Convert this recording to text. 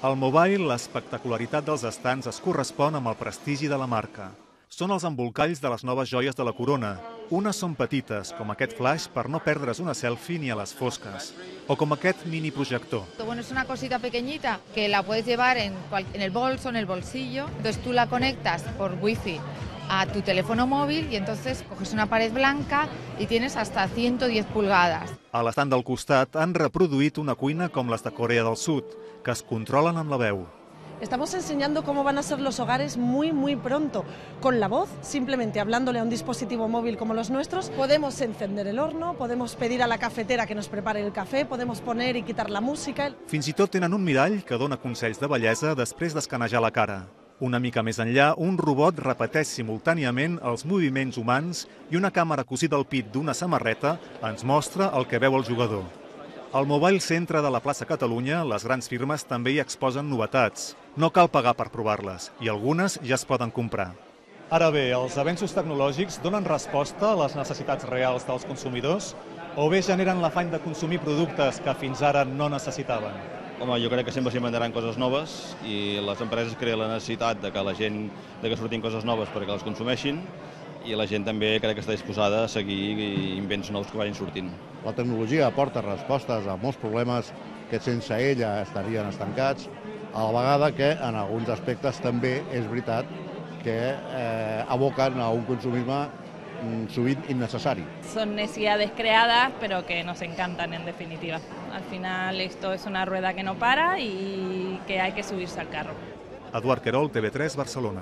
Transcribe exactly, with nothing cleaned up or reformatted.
Al Mobile, l'espectacularitat dels estants es correspon amb el prestigi de la marca. Són els embolcalls de les noves joies de la corona. Unes són petites, com aquest flash per no perdre's una selfie ni a les fosques. O com aquest mini projector. Bueno, es una cosita pequeñita que la puedes llevar en, cual, en el bolso, en el bolsillo. Entonces tú la conectas por wifi a tu teléfono móvil y entonces coges una pared blanca y tienes hasta ciento diez pulgadas. A l'estant del costat han reproduït una cuina com les de Corea del Sud, que es controlen amb la veu. Estamos enseñando cómo van a ser los hogares muy, muy pronto. Con la voz, simplemente hablándole a un dispositivo móvil como los nuestros, podemos encender el horno, podemos pedir a la cafetera que nos prepare el café, podemos poner y quitar la música. Fins i tot tenen un mirall que dona consells de bellesa després d'escanejar la cara. Una mica més enllà, un robot repeteix simultàniament els moviments humans i una càmera cosida al pit d'una samarreta ens mostra el que veu el jugador. Al Mobile Centre de la plaça Catalunya, les grans firmes també hi exposen novetats. No cal pagar per provar-les, i algunes ja es poden comprar. Ara bé, els avenços tecnològics donen resposta a les necessitats reals dels consumidors o bé generen l'afany de consumir productes que fins ara no necessitaven? Home, jo crec que sempre s'inventaran coses noves i les empreses creen la necessitat de que la gent de que surtin coses noves perquè les consumeixin i la gent també crec que està disposada a seguir invents nous que vagin sortint. La tecnologia aporta respostes a molts problemes que sense ella estarien estancats, a la vegada que en alguns aspectes també és veritat que eh, aboquen a un consumisme sovint innecessari. Son necesidades creadas, pero que nos encantan en definitiva. Al final esto es una rueda que no para y que hay que subirse al carro. Eduard Querol, T V tres, Barcelona.